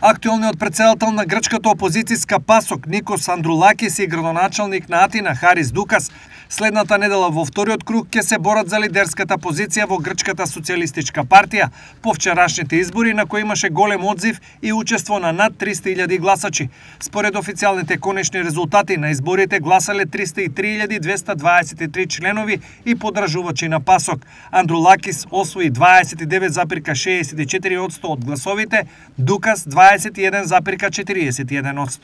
Актуелниот претседател на грчката опозицијска ПАСОК Никос Андрулакис и градоначалник на Атина Харис Дукас следната недела во вториот круг ќе се борат за лидерската позиција во Грчката социјалистичка партија по вчерашните избори на кои имаше голем одзив и учество на над 300.000 гласачи. Според официјалните конечни резултати на изборите гласале 303.223 членови и подржувачи на ПАСОК. Андрулакис освои 29,64% од гласовите, Дукас 21,41%.